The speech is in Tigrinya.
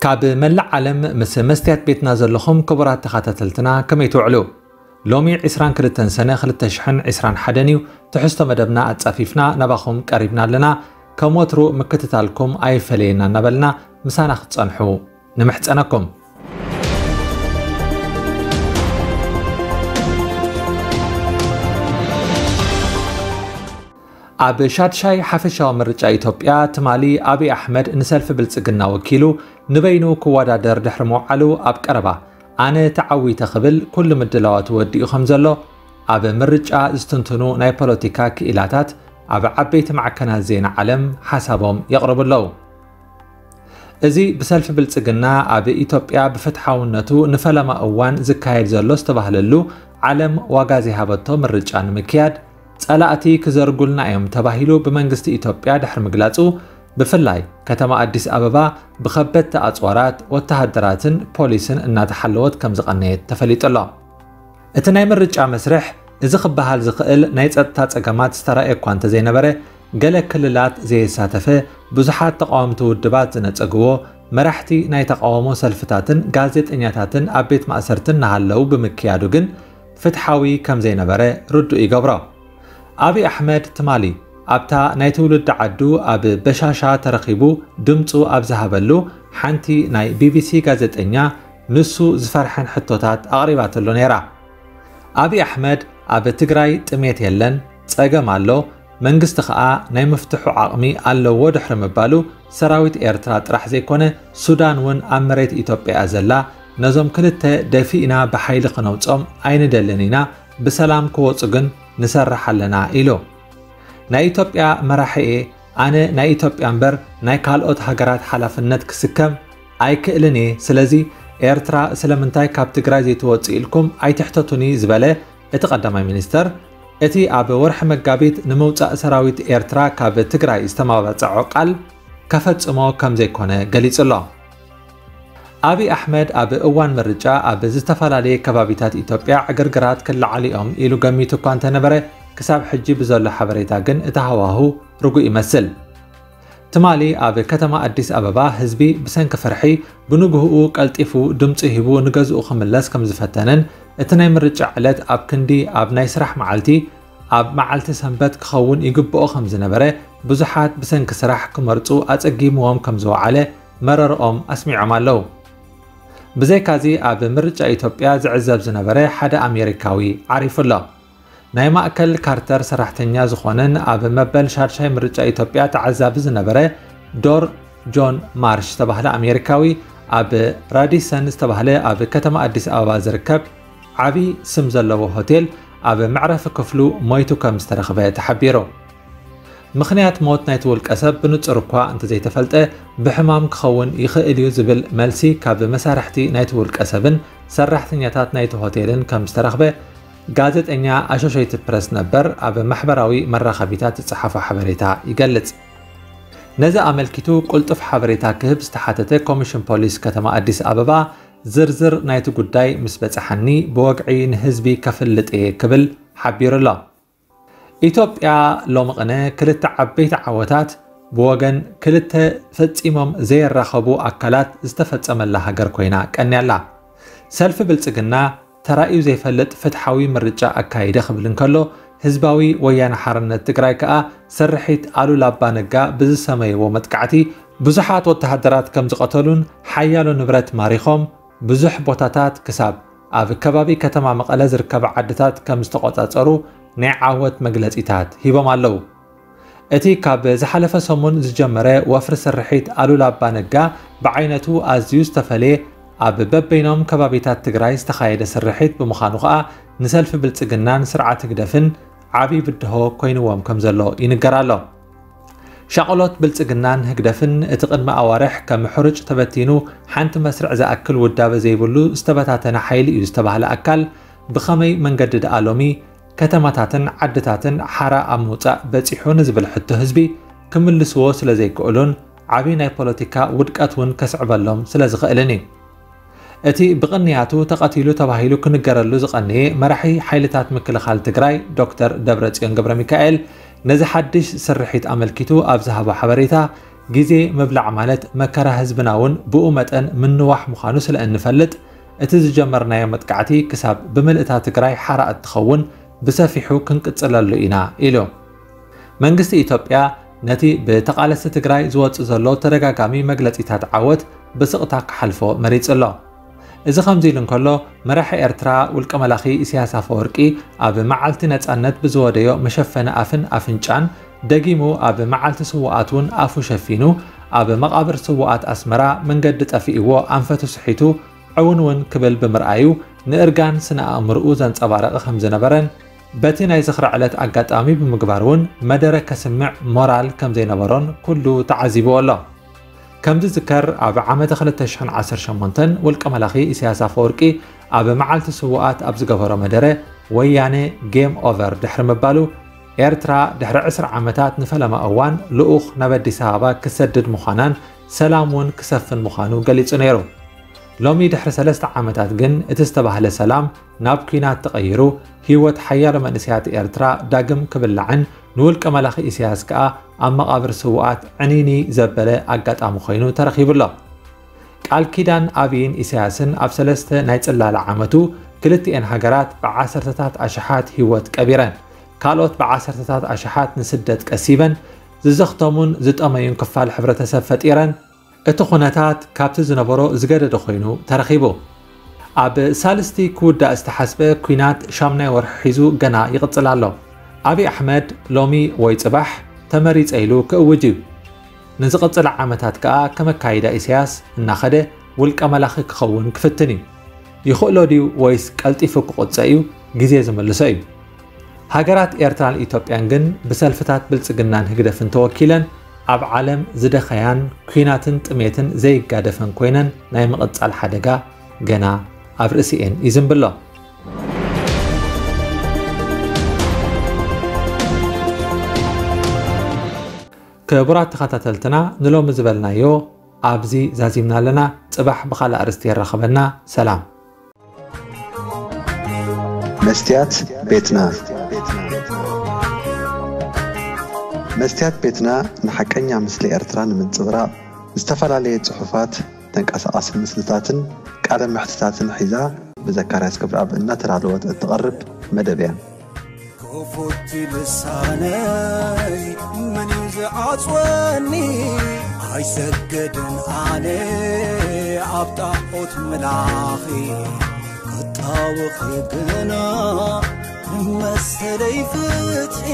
ካብ መላእ ዓለም ምስ መስትያት ቤትና ዘለኹም ክቡራት ተኸታተልትና ከመይ ትውዕሉ? ሎሚ ዕስራን ክልተን ሰነ ክልተ ሽሕን ዕስራን ሓደን እዩ። ትሕዝቶ መደብና ኣጻፊፍና ናባኹም ቀሪብና ኣለና። ከም ወትሩ ምክትታልኩም ኣይፈለየና እናበልና ምሳና ክትጸንሑ ንምሕጸነኩም። ኣብ ሻድሻይ ሓፈሻዊ ምርጫ ኢትዮጵያ ትማሊ ኣብይ ኣሕመድ ንሰልፊ ብልጽግና ወኪሉ ንበይኑ ክወዳደር ድሕሪ ምውዓሉ ኣብ ቀረባ ኣነ ተዓዊተ ክብል ኩሉ ምድላዋቱ ወዲኡ ከም ዘሎ ኣብ ምርጫ ዝትንትኑ ናይ ፖለቲካ ክኢላታት ኣብ ዓበይቲ ማዕከናት ዜና ዓለም ሓሳቦም የቕርቡ ኣለዉ። እዚ ብሰልፊ ብልጽግና ኣብ ኢትዮጵያ ብፍትሓውነቱ ንፈለማ እዋን ዝካየድ ዘሎ ዝተባህለሉ ዓለም ዋጋ ዘይሃበቶ ምርጫ ንምክያድ ጸላእቲ ክዘርጉልና እዮም ተባሂሉ ብመንግስቲ ኢትዮጵያ ድሕሪ ምግላጹ፣ ብፍላይ ከተማ ኣዲስ ኣበባ ብኸበድቲ ኣጽዋራት፣ ወተሃደራትን ፖሊስን እናተሓለወት ከም ዝቐነየት ተፈሊጡ ኣሎ። እቲ ናይ ምርጫ መስርሕ፣ እዚ ክበሃል ዝኽእል ናይ ጸጥታ ጸገማት ዝተራእየ እኳ እንተዘይነበረ፣ ገለ ክልላት ዘየሳተፈ፣ ብዙሓት ተቓወምቲ ውድባት ዝነጸግዎ፣ መራሕቲ ናይ ተቓውሞ ሰልፍታትን ጋዜጠኛታትን ኣብ ቤት ማእሰርትን እናሃለዉ ብምክያዱ ግን ፍትሓዊ ከም ዘይነበረ ርዱእ ይገብሮ። ኣብይ ኣሕመድ ትማሊ ኣብታ ናይ ትውልዲ ዓዱ ኣብ በሻሻ ተረኺቡ ድምጹ ኣብ ዝሃበሉ ሓንቲ ናይ ቢቢሲ ጋዜጠኛ ንሱ ዝፈርሐን ሕቶታት ኣቕሪባትሉ ነይራ። ኣብይ ኣሕመድ ኣብ ትግራይ ጥሜት የለን፣ ጸገም ኣሎ፣ መንግስቲ ኸኣ ናይ ምፍትሑ ዓቕሚ ኣለዎ ድሕሪ ምባሉ ሰራዊት ኤርትራ ጥራሕ ዘይኮነ ሱዳን እውን ኣብ መሬት ኢትዮጵያ እያ ዘላ፣ ነዞም ክልተ ደፊእና ብሓይሊ ክነውጾም ኣይንደልን ኢና፣ ብሰላም ክወጹ ግን ንሰርሕ ኣለና ኢሉ። ናይ ኢትዮጵያ መራሒ እየ፣ ኣነ ናይ ኢትዮጵያ እምበር ናይ ካልኦት ሃገራት ሓላፍነት ክስከም ኣይክእልን እየ። ስለዚ ኤርትራ ስለምንታይ ካብ ትግራይ ዘይትወጽእ ኢልኩም ኣይትሕተቱኒ ዝበለ እቲ ቀዳማይ ሚኒስተር፣ እቲ ኣብ ወርሒ መጋቢት ንምውጻእ ሰራዊት ኤርትራ ካብ ትግራይ ዝተማባጸዖ ቃል ከፈጽሞ ከም ዘይኮነ ገሊጹ ኣሎ። ኣብይ ኣሕመድ ኣብ እዋን ምርጫ ኣብ ዝተፈላለየ ከባቢታት ኢትዮጵያ ዕግርግራት ክለዓሉ እዮም ኢሉ ገሚቱ እኳ እንተነበረ፣ ክሳብ ሕጂ ብዘሎ ሓበሬታ ግን እቲ ሃዋሁ ርጉእ ይመስል። ትማሊ ኣብ ከተማ ኣዲስ ኣበባ ህዝቢ ብሰንኪ ፍርሒ ብንግህኡ ቀልጢፉ ድምፂ ሂቡ ንገዝኡ ክምለስ ከም ዝፈተነን እቲ ናይ ምርጫ ዕለት ኣብ ክንዲ ኣብ ናይ ስራሕ መዓልቲ ኣብ መዓልቲ ሰንበት ክኸውን ይግብኦ ከም ዝነበረ ብዙሓት ብሰንኪ ስራሕ ክመርፁ ኣፀጊምዎም ከም ዝወዓለ መረርኦም ኣስሚዖም ኣለዉ። ብዘይካዚ ኣብ ምርጫ ኢትዮጵያ ዝዕዘብ ዝነበረ ሓደ ኣሜሪካዊ ዓሪፉ ኣሎ። ናይ ማእከል ካርተር ሰራሕተኛ ዝኾነን ኣብ መበል ሻድሻይ ምርጫ ኢትዮጵያ ተዓዛቢ ዝነበረ ዶር ጆን ማርሽ ዝተባህለ ኣሜሪካዊ ኣብ ራዲሰን ዝተባህለ ኣብ ከተማ ኣዲስ ኣበባ ዝርከብ ዓቢ ስም ዘለዎ ሆቴል ኣብ መዕረፊ ክፍሉ ሞይቱ ከም ዝተረኽበ ተሓቢሩ። ምኽንያት ሞት ናይቲ ውልቀ ሰብ ብንጹር እኳ እንተዘይተፈልጠ፣ ብሕማም ክኸውን ይኽእል እዩ ዝብል መልሲ ካብ መሳርሕቲ ናይቲ ውልቀ ሰብን ሰራሕተኛታት ናይቲ ሆቴልን ከም ዝተረኽበ ጋዜጠኛ ኣሶሼትድ ፕረስ ነበር ኣብ ማሕበራዊ መራኸቢታት ዝጸሓፎ ሓበሬታ ይገልጽ። ነዚ ኣመልኪቱ ቅልጡፍ ሓበሬታ ክህብ ዝተሓተተ ኮሚሽን ፖሊስ ከተማ ኣዲስ ኣበባ፣ ዝርዝር ናይቲ ጉዳይ ምስ በጽሓኒ ብወግዒ ንህዝቢ ከፍልጥ እየ ክብል ሓቢሩ ኣሎ። ኢትዮጵያ ሎሚ ቅነ ክልተ ዓበይቲ ዓወታት ብወገን ክልተ ፈጺሞም ዘየራኸቡ ኣካላት ዝተፈጸመላ ሃገር ኮይና ቀንያ ኣላ። ሰልፊ ብልጽግና ተራእዩ ዘይፈልጥ ፍትሓዊ ምርጫ ኣካይደ ክብል እንከሎ፣ ህዝባዊ ወያነ ሓርነት ትግራይ ከኣ ስርሒት ኣሉላ ኣባ ነጋ ብዝሰመይዎ መጥቃዕቲ ብዙሓት ወተሃደራት ከም ዝቐተሉን ሓያሎ ንብረት ማሪኾም ብዙሕ ቦታታት ክሳብ ኣብ ከባቢ ከተማ መቐለ ዝርከባ ዓድታት ከም ዝተቖጻጸሩ ናይ ዓወት መግለጺታት ሂቦም ኣለዉ። እቲ ካብ ዝሓለፈ ሰሙን ዝጀመረ ወፍሪ ስርሒት ኣሉላ ኣባ ነጋ ብዓይነቱ ኣዝዩ ዝተፈልየ ኣብ በበይኖም ከባቢታት ትግራይ ዝተኻየደ ስርሒት ብምዃኑ ከኣ ንሰልፊ ብልጽግናን ስርዓት ህግደፍን ዓብዪ ብድሆ ኮይንዎም ከም ዘሎ ይንገር ኣሎ። ሻቕሎት ብልጽግናን ህግደፍን እቲ ቅድሚ ኣዋርሕ ከም ሕሩጭ ተበቲኑ ሓንቲ መስርዕ ዝኣክል ውዳበ ዘይብሉ ዝተበታተነ ሓይሊ እዩ ዝተባህለ ኣካል ብኸመይ መንገዲ ደኣ ሎሚ ከተማታትን ዓድታትን ሓራ ኣብ ምውጻእ በጺሑ ንዝብል ሕቶ ህዝቢ ክምልስዎ ስለ ዘይክእሉን ዓቢ ናይ ፖለቲካ ውድቀት እውን ከስዕበሎም ስለ ዝኽእልን እዩ። እቲ ብቕንያቱ ተቐቲሉ ተባሂሉ ክንገረሉ ዝቐነየ መራሒ ሓይልታት ምክልኻል ትግራይ ዶክተር ደብረጽዮን ገብረ ሚካኤል ነዚ ሓድሽ ስርሒት ኣመልኪቱ ኣብ ዝሃቦ ሓበሬታ፣ ግዜ ምብላዕ ማለት መከራ ህዝብና እውን ብኡ መጠን ምንዋሕ ምዃኑ ስለ እንፈልጥ፣ እቲ ዝጀመርናዮ መጥቃዕቲ ክሳብ ብምልእታ ትግራይ ሓራ እትኸውን ብሰፊሑ ክንቅጽለሉ ኢና ኢሉ። መንግስቲ ኢትዮጵያ ነቲ ብተቓለስቲ ትግራይ ዝወጽእ ዘሎ ተደጋጋሚ መግለጺታት ዓወት ብስቕታ ክሓልፎ መሪጹ ኣሎ። እዚ ከምዚ ኢሉ እንከሎ፣ መራሒ ኤርትራ ውልቀ መላኺ ኢሳያስ ኣፈወርቂ ኣብ መዓልቲ ነጻነት ብዝወደዮ መሸፈኒ ኣፍን ኣፍንጫን፣ ደጊሙ ኣብ መዓልቲ ስውኣት እውን ኣፉ ሸፊኑ፣ ኣብ መቓብር ስውኣት ኣስመራ መንገዲ ጠፊእዎ ኣንፈቱ ስሒቱ ዕውን እውን ክብል ብምርኣዩ፣ ንእርጋን ስነ ኣእምርኡ ዘንጸባረቐ ከም ዝነበረን፣ በቲ ናይ ዝኽሪ ዕለት ኣጋጣሚ ብምግባር እውን መደረ ከስምዕ ሞራል ከም ዘይነበሮን ኩሉ ተዓዚብዎ ኣሎ። ከም ዝዝከር፣ ኣብ ዓመተ ክልተ ሽሕን ዓሰርተ ሸሞንተን ውልቀ መላኺ ኢሳያስ ኣፈወርቂ ኣብ መዓልቲ ስውኣት ኣብ ዝገበሮ መደረ፣ ወያነ ጌም ኦቨር ድሕሪ ምባሉ፣ ኤርትራ ድሕሪ ዕስራ ዓመታት ንፈለማ እዋን ልኡኽ ናብ ኣዲስ ኣበባ ክሰድድ ምዃናን ሰላም እውን ክሰፍን ምዃኑ ገሊጹ ነይሩ። ሎሚ ድሕሪ ሰለስተ ዓመታት ግን እቲ ዝተባህለ ሰላም ናብ ኲናት ተቐይሩ፣ ህይወት ሓያሎ መንእሰያት ኤርትራ ዳግም ክብላዕን ንውልቀ መላኺ ኢሳያስ ከኣ ኣብ መቓብር ስውኣት ዕንይንይ ዘበለ ኣጋጣሚ ኮይኑ ተረኺቡ ኣሎ። ቃል ኪዳን ኣብይን ኢሳያስን ኣብ ሰለስተ ናይ ጽላለ ዓመቱ ክልቲኤን ሃገራት ብዓሰርተታት ኣሽሓት ህይወት ቀቢረን፣ ካልኦት ብዓሰርተታት ኣሽሓት ንስደት ቀሲበን፣ ዝዘኽተሙን ዝጠመዩን ክፋል ሕብረተሰብ ፈጢረን፣ እቲ ኩነታት ካብቲ ዝነበሮ ዝገደደ ኮይኑ ተረኺቡ። ኣብ ሳልስቲ ክውዳእ ዝተሓስበ ኲናት ሻምናይ ወርሒ ሒዙ ገና ይቕጽል ኣሎ። ኣብይ ኣሕመድ ሎሚ ወይ ጽባሕ ተመሪጸ ኢሉ ክእውጅ እዩ። ንዝቕጽል ዓመታት ከኣ ከም ኣካይዳ ኢሳያስ እናኸደ ውልቀ መላኺ ክኸውን ክፍትን እዩ። ይኽእሎ ድዩ ወይስ ቀልጢፉ ክቑጸ እዩ? ግዜ ዝምልሶ እዩ። ሃገራት ኤርትራን ኢትዮጵያን ግን ብሰልፍታት ብልጽግናን ህግደፍን ተወኪለን ኣብ ዓለም ዝደኸያን ኲናትን ጥሜትን ዘይጋደፈን ኮይነን ናይ ምቕጻል ሓደጋ ገና ኣብ ርእሲኤን ይዝንብሎ። ክቡራት ተኸታተልትና ንሎሚ ዝበልናዮ ኣብዚ ዛዚምና ኣለና። ጽባሕ ብኻልእ ኣርእስቲ የራኽበና። ሰላም። መስትያት ቤትና። መስትያት ቤትና ንሓቀኛ ምስሊ ኤርትራ ንምንጽብራቕ ዝተፈላለየ ጽሑፋት፣ ተንቀሳቓሲ ምስልታትን ቃለ መሕትታትን ሒዛ ብዘካርያስ ገብረኣብ እናተዳለወት እትቐርብ መደብ እያ። ክፉቲ ልሳነይ መን እዩ ዝዓጽወኒ? ኣይሰግድን ኣነ ኣብ ጣዖት ምላኺ፣ ክጣወኺ ግና መሰለይ ፍትሒ።